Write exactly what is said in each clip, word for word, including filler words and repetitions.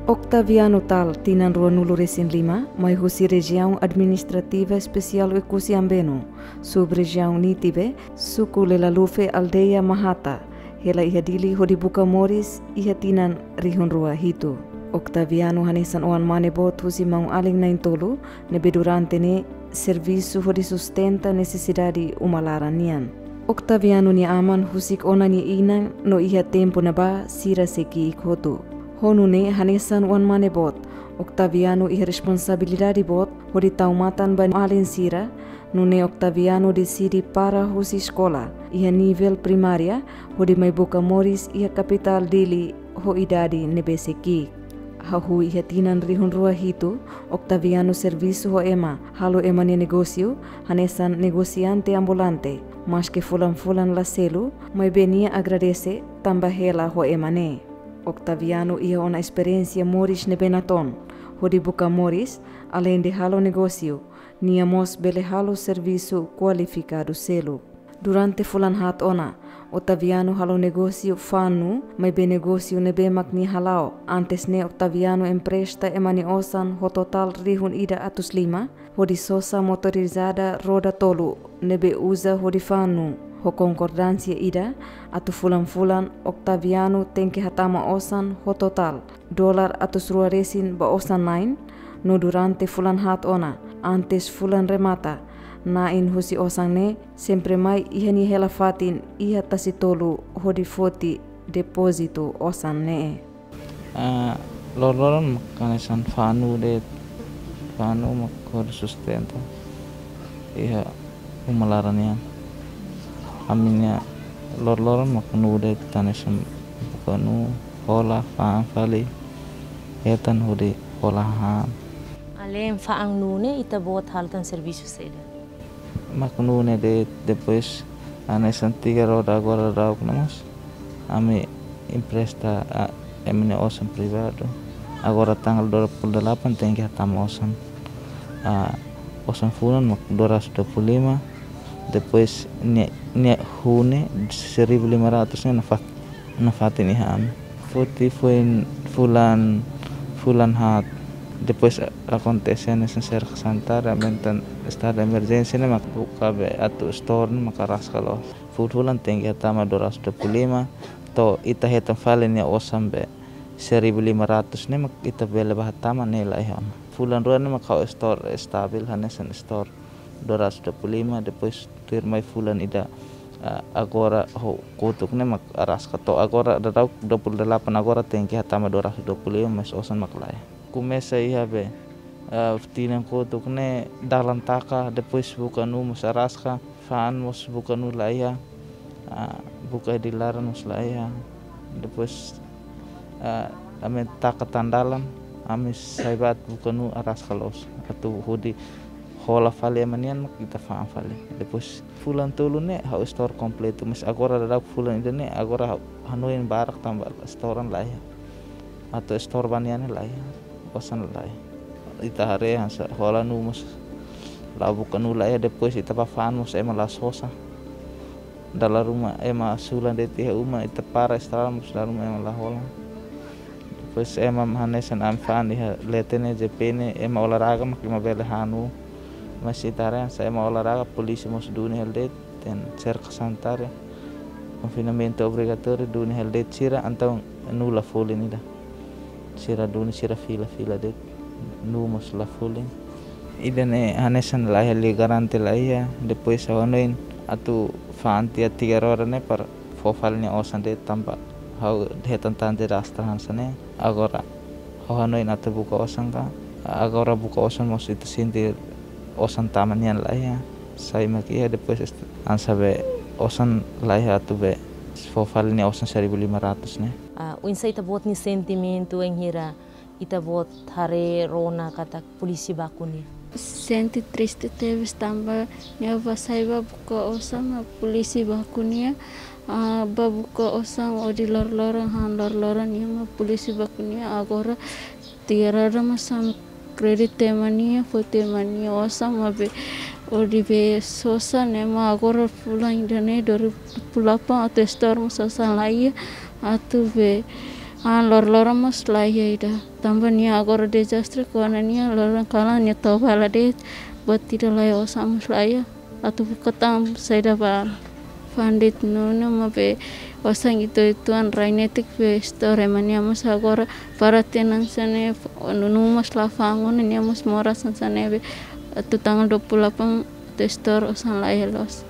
Octaviano Tal, tinan ruanulu resin lima, mai husi Rejiaun Administrativa Espesiál Oekusi Ambeno, Sub-Rejiaun Nitibe, Suku Lelalufe, Aldeia Mahata, hela iha Dili hodi buka moris iha tinan rihun rua hitu. Octaviano hanesan oan mane boot husi maun-alin na'in-tolu, ne'ebé durante ne'e servisu hodi sustenta nesesidade uma laran nian. Octaviano nia aman husik ona nia inan no iha tempu ne'ebá sira sei ki'ik hotu. Ho nune'e hanesan oan mane boot, Octaviano iha responsabilidade boot hodi tau matan ba alin sira, nune'e Octaviano deside para husi eskola iha nivel primária hodi mai buka moris iha kapitál Dili ho idade ne'ebé sei ki'ik. Hahú iha tinan rihun rua hitu, Octaviano servisu ho ema, halo ema nia negósiu, hanesan negosiante ambulante, maske fulan-fulan la selu, maibé nia agradese tanba hela ho ema ne'e. Octaviano iha ona esperiénsia moris ne'ebé natoon, hodi buka moris, aleinde halo negósiu, nia mós bele halo servisu kualifikadu seluk. Durante fulan haat ona, Octaviano halo negósiu fa'an nuu, maibé negósiu ne'ebé mak nia hala'o. Antes ne'e Octaviano empresta ema nia osan ho totál rihun ida atus lima, hodi sosa motorizada roda tolu ne'ebé uza hodi fa'an nuu. Ho konkordánsia ida, atu fulan-fulan Octaviano tenke hatama osan ho totál dolar atus rua resin ba osan na'in, no durante fulan haat ona, antes fulan remata, na'in husi osan ne'e sempre mai iha nia hela fatin iha Tasitolu hodi foti depózitu osan ne'e. Ah, loroloron mak hanesan fa'an nuu de'it, fa'an nuu mak hodi sustenta iha uma laran nian. Ami-nia loroloron mak nuu de'it, hanesan buka nuu, hola, fa'an fali, hetan hodi hola hahán. Alein fa'an nuu ne'e, ita-boot halo tan servisu saida? Mak nuu ne'e de'it, depois hanesan tiga roda agora daudaun ne'e mós ami empresta, ah, ema nia osan privadu. Agora tanggal dua puluh delapan tenke hatama osan. Ah, osan fulan mak dua ratus dua puluh lima. Depois nia, nia hun ne'e seribu lima ratus ne'e nafa-, nafatin iha ami. Foti foin fulan, fulan haat. Depois a-, akontese hanesan Serka Sanitária aumenta estadu emerjénsia ne'e mak buka be atu store ne'e mak araska loos. Fulan-fulan tenke hatama dua ratus dua puluh lima, to'o ita hetan fali nia osan be seribu lima ratus ne'e mak ita bele bá hatama ne'e laiha ona. Fulan rua ne'e mak ha'u store stabil hanesan store dua ratus dua puluh lima, depois tuirmai fulan ida, ah, agora ho kotuk ne'e mak araska to'o agora daudaun dua puluh delapan, agora tenke hatama dua ratus dua puluh lima, mas osan mak laiha. Komesa iha be, ah, tinan kotuk ne'e dalan taka, depois buka nuu mós araska, fa'an mós buka nuu laiha, ah, buka di laran mós laiha. Depois, ah, ami taka tan dalan, ami sai bá atu buka nuu araska loos. Atu hodi hola fali ema nian mak ita fa'an fali. Depois fulan tolu ne'e ha'u store kompletu, mas agora daudaun fulan ida ne'e agora ha'u hanoin barak tanba storan laiha. Atu store ba nia ne'e laiha, osan laiha. Ita haree hanesan hola nuu mós la'o buka nuu laiha, depois ita bá fa'an mós ema la sosa. Dala ruma ema sulan de'it iha uma, ita para estrada mós dala ruma ema la hola. Depois ema hanesan ami fa'an iha leten ne'e, J P ne'e, ema olahraga mak ema bele han nuu. Mas ita haree hanesan ema olahraga, polísia mós duni hela de'it, iha Serka Sanitária. Konfinamentu obrigatóriu duni hela de'it sira, entaun nuu la folin ida. Sira duni, sira fila-fila de'it, nuu mós la folin. Ida-ne'e hanesan laiha, liga garante laiha, depois ha'u hanoin atu fa'an tiha tiga roda ne'e para fó fali nia osan de'it tanba ha'u hetan tan dezastre hanesan ne'e. Agora ha'u hanoin atu buka osan ka, agora buka osan mós ita sente osan tama nian laiha, sai mak iha, depois est-, hanesan be osan laiha atu be fó fali nia osan seribu lima ratus ne'e. Ah, oinsá ita-boot nia sentimentu bainhira ita-boot haree rona katak polísia baku nia? Sente triste tebes tanba nia bá sai bá buka osan, ah, polísia baku nia, ah, bá buka osan hodi loroloron, han loroloron nian mak polísia baku nia. Agora tiga roda mós ami kredita ema nia, foti ema nia osan, maibé hodi be sosa ne'e mak agora fulan ida-ne'e dua ribu dua puluh delapan atu store mós osan laiha, atu be Ah, loroloron mós laiha ida. Tanba nia agora dezastre, kuandu nia loroloron kalan nia toba la de'it, buat ida laiha, osan mós laiha. Atu buka tan saida ba fa'an de'it nune'e, maibé osan ida tuan rai netik be istória, ema nia mós agora para tinan sene nunu mós la fa'an, nia mós moras hanesan ne'e be atu tanggal dua puluh delapan atu istória osan laiha loos.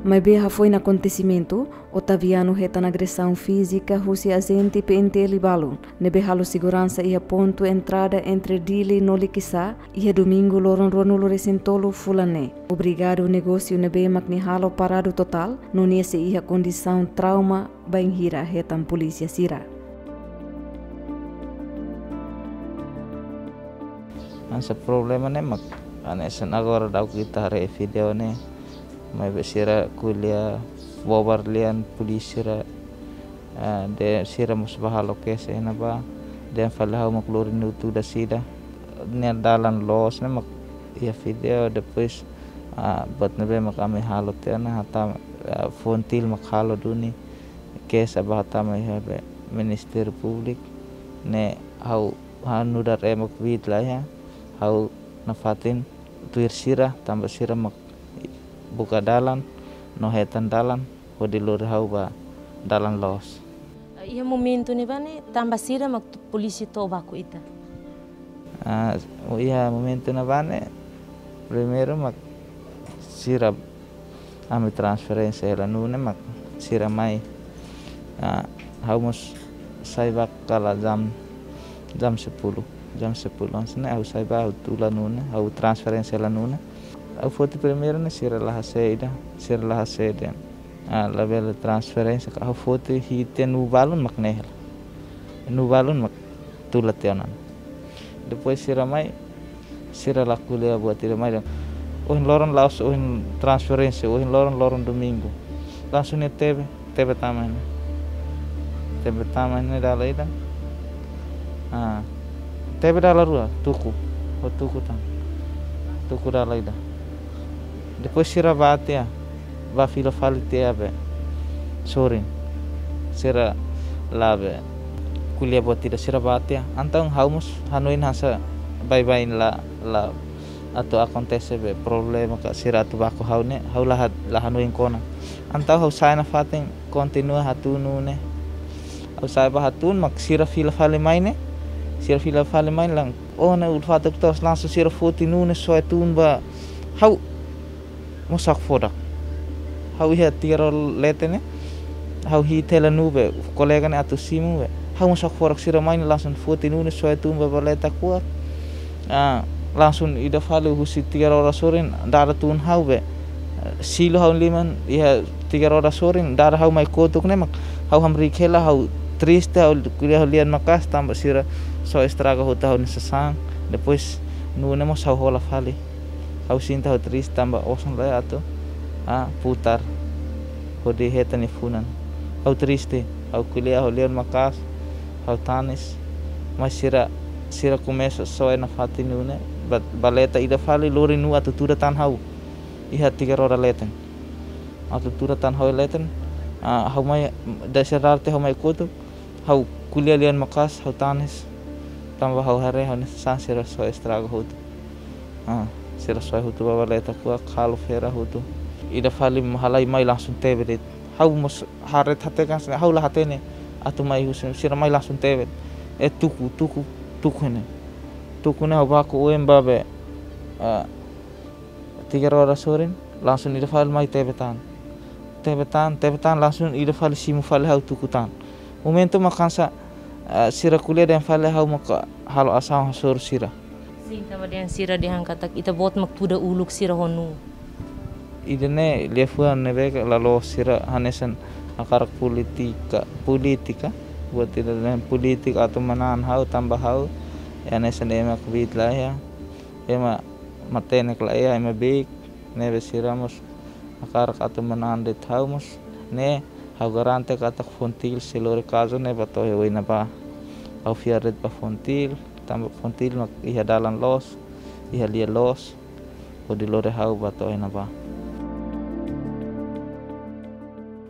Maibé hafoin akontesimentu, Otaviano hetan agresaun fízika husi ajente P N T L balun ne'ebé halo seguransa iha pontu entrada entre Dili no Likisá, iha Domingu loron ruanulu-resin-tolu fulan ne'e. Obrigadu negósiu ne'ebé mak nia halo paradu totál, no nia sei iha kondisaun trauma bainhira hetan polísia sira. Hanesan problema ne'e mak hanesan agora daudauk ita haree vídeo ne'e, maibé sira ko'alia bobar lian polísia sira, ah, dehan sira mós bá halo keis iha ne'ebá, dehan fali ha'u mak lori nuu tuda sira. Nia dalan loos ne'e mak iha vídeo, depois, ah, buat ne'ebé mak ami halo tiha ona, hatama, ah, Fontil mak halo duni keis, bá hatama iha be Ministériu Públiku, ne'e ha'u ha'u nu'udar ema kbiit laiha, ha'u nafatin tuir sira, tanba sira mak buka dalan, no hetan dalan, hodi lori ha'u ba dalan loos. Iha momentu ne'ebá ne'e, tanba sira mak tu-, polísia to'o baku ita? Ah, iha momentu ne'ebá ne'e, primeiru mak sira ami transferénsia hela nune'e mak sira mai. Ah, ha'u mós sai bá kala jam, jam sepuluh, jam sepuluh. Hanesan ne'e ha'u sai bá, ha'u tula nune'e, ha'u transferénsia hela nune'e. Ha'u foti primeiru ne'e sira la hase'e ida, sira la hase'e ida. Ah, labele transferénsia, ka ha'u foti hi'it nuu balun mak ne'e hela. Nuu balun mak tula tiha ona. Depois sira mai, sira la ko'alia buat ida mai dehan: "Ohin loron la'ós ohin transferénsia, ohin loron, loron Domingu." Langsung nia tebe, tebe tama ne'e. Tebe tama ne'e dala ida. Ah, tebe dala rua, tuku. Ha'u tuku tan. Tuku dala ida. Depois sira bá tiha, bá fila fali tiha be sorin. Sira la be ko'alia buat ida, sira bá tiha. Entaun ha'u mós hanoin hanesan baibain, la, la atu akontese be problema ka sira atu baku ha'u ne'e, ha'u la ha-, la hanoin kona. Entaun ha'u sai nafatin kontinua hatún nune'e. Ha'u sai bá hatún mak sira fila fali mai ne'e. Sira fila fali mai ne'e langsung, oh, ne'e ulfatuk tos, langsung sira foti nune'e soe tun ba ha'u. Mós hakfodak. Ha'u iha tiga rua leten ne'e, ha'u hi'it hela nuu be, kolega ne'e atu simu be. Ha'u mós hakfodak, sira mai ne'e langsung foti nune'e soe tun ba baleta kuak. Ah, langsung ida fali husi tiga rua sorin dada tun ha'u be. Silu ha'u liman iha tiga rua sorin, dada ha'u mai kotuk ne'e mak ha'u hamriik hela, ha'u triste, ha'u ko'alia ho lian maka'as tanba sira soe estraga hotu ha'u-nia sasán. Depois nune'e mós ha'u hola fali. Ha'u sente ha'u triste tanba osan laiha atu, ah, putar hodi hetan nia funan. Ha'u triste, ha'u ko'alia ho lian maka'as, ha'u tanis. Mas sira, sira komesa soe nafatin nune'e, ba-, baleta ida fali lori nuu atu tuda tan ha'u. Iha tiga rua leten. Atu tuda tan ha'u leten, ah, ha'u mai, da sira dada tiha ha'u mai kotuk, ha'u ko'alia lian maka'as, ha'u tanis. Tanba ha'u haree ha'u-nia sasán sira soe estraga hotu. Ah, sira soe hotu ba baleta kuak, halo fera hotu. Ida fali halai mai langsung tebe de'it. Ha'u mós haree hatene kan, ha'u la hatene atu mai husi, sira mai langsung tebe. Eh, tuku, tuku, tuku ne'e. Tuku ne'e ha'u baku oin ba be, ah, tiga rua sorin, langsung ida fali mai tebe tan. Tebe tan, tebe tan, langsung ida fali simu fali ha'u tuku tan. Momentu mak hanesan, eh, sira ko'alia dehan fali ha'u maka halo asaun hasoru sira. Sin, tanba dehan sira dehan katak ita-boot mak tuda uluk sira ho nuu. Ida-ne'e liafuan ne'ebé la loos, sira hanesan hakarak polítika, polítika, buat ida dehan polítika atu manán ha'u tanba ha'u, eh, hanesan ema kbiit laiha, ema matenek laiha, ema beik, ne'ebé sira mós hakarak atu manán de'it ha'u mós, ne'e ha'u garante katak Fontil sei lori kazu ne'e ba to'o iha oin ne'ebá. Ha'u fiar de'it ba Fontil, tanba Fontil mak iha dalan loos, iha lia loos, hodi lori ha'u ba to'o iha ne'ebá.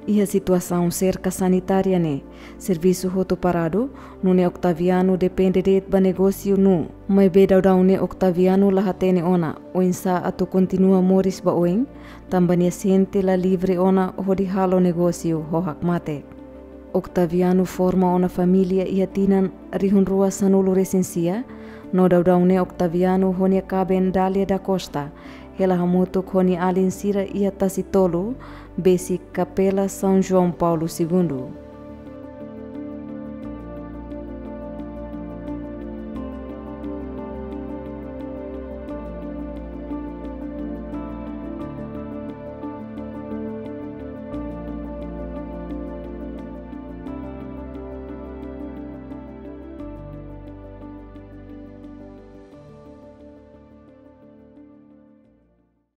Iha situasaun serka sanitária ne'e, servisu hotu paradu, nune'e Octaviano depende de'it ba negósiu nuu. Maibé daudaun ne'e Octaviano la hatene ona oinsá atu kontinua moris ba oin, tanba nia sente la livre ona hodi halo negósiu ho hakmatek. Octaviano forma ona família iha tinan rihun rua sanulu resin sia, no daudaun ne'e Octaviano ho nia kaben Dália da Costa hela hamutuk ho nia alin sira iha Tasi Tolu, besik Kapela São João Paulo Segundo.